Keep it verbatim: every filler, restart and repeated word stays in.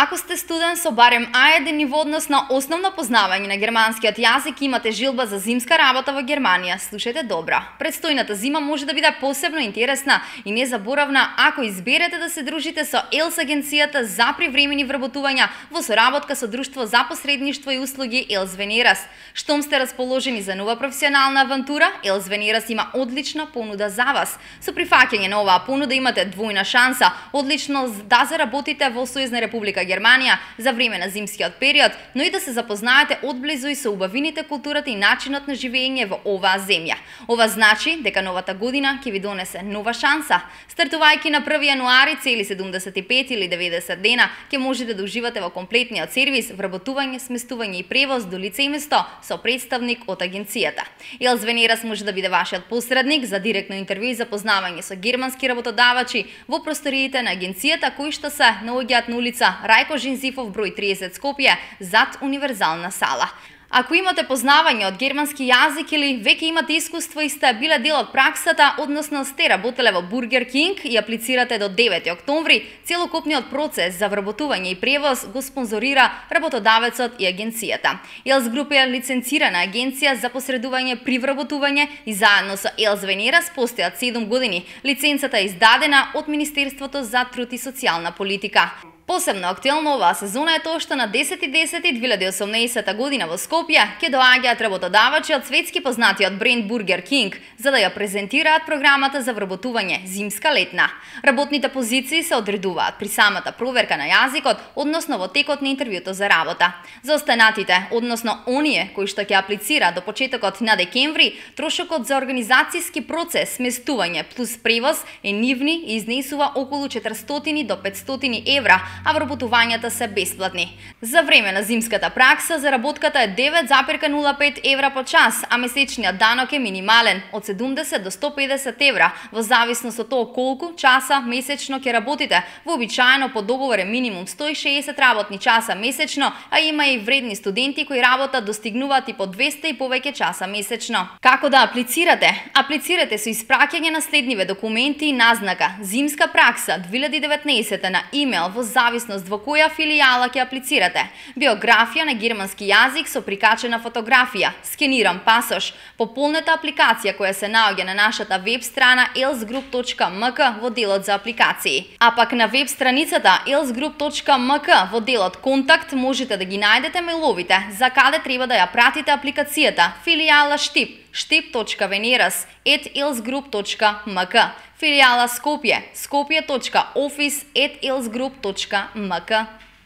Ако сте студент со барем А еден ниво односно основно познавање на германскиот јазик и имате жилба за зимска работа во Германија, слушајте добро. Предстојната зима може да биде посебно интересна и незаборавна ако изберете да се дружите со Елс агенцијата за привремени вработувања во соработка со Друштво за посредништво и услуги Елс Венерас. Штом сте расположени за нова професионална авантура, Елс Венерас има одлична понуда за вас. Со прифаќање на оваа понуда имате двојна шанса, одлично да заработите во Сојузна Република Германија за време на зимскиот период, но и да се запознаете одблизу и со убавините, културата и начинот на живење во оваа земја. Ова значи дека новата година ќе ви донесе нова шанса. Стартувајќи на први јануари цели седумдесет и пет или деветдесет дена ќе можете да уживате во комплетниот сервис, вработување, сместување и превоз до лице и место со представник од агенцијата. Елс Венерас може да биде вашиот посредник за директно интервју и запознавање со германски работодавачи во просториите на агенцијата кои што се наоѓаат на улица Рајко Жензифов број триесет Скопје зад универзална сала. Ако имате познавање од германски јазик или веќе имате искуство и сте биле дел од праксата, односно сте работеле во Бургер Кинг и аплицирате до девети октомври, целокупниот процес за вработување и превоз го спонзорира работодавецот и агенцијата. Елс Груп е лиценцирана агенција за посредување при вработување и заедно со Елс Венерас постојат седум години. Лиценцата е издадена од Министерството за труд и социјална политика. Посебно актуелно оваа сезона е тоа што на десети десети две илјади и осумнаесета година во Скопје ќе доаѓаат работодавачи од светски познатиот бренд Бургер Кинг за да ја презентираат програмата за вработување зимска-летна. Работните позиции се одредуваат при самата проверка на јазикот, односно во текот на интервјуто за работа. За останатите, односно оние кои што ќе аплицираат до почетокот на декември, трошокот за организацијски процес, сместување плюс превоз е нивни и изнесува околу четиристотини до петстотини евра, а вработувањата се бесплатни. За време на зимската пракса заработката е девет запирка нула пет евра по час, а месечниот данок е минимален од седумдесет до сто педесет евра, во зависност од тоа колку часа месечно ќе работите. Вообичаено по договор е минимум сто и шеесет работни часа месечно, а има и вредни студенти кои работат достигнуваат и по двеста и повеќе часа месечно. Како да аплицирате? Аплицирате со испраќање на следниве документи и назнака Зимска пракса две илјади и деветнаесета на имејл во зависност во која филијала ќе аплицирате. Биографија на германски јазик со прикачена фотографија, скениран пасош, пополнета апликација која се наоѓа на нашата веб страна елс груп точка ем ка во делот за апликации. А пак на веб страницата елс груп точка ем ка во делот контакт можете да ги најдете мејловите за каде треба да ја пратите апликацијата. Филијала Штип, штип точка венерас ет елс груп точка ем ка. Филијала Скопје, скопје точка офис ет елс груп точка ем ка.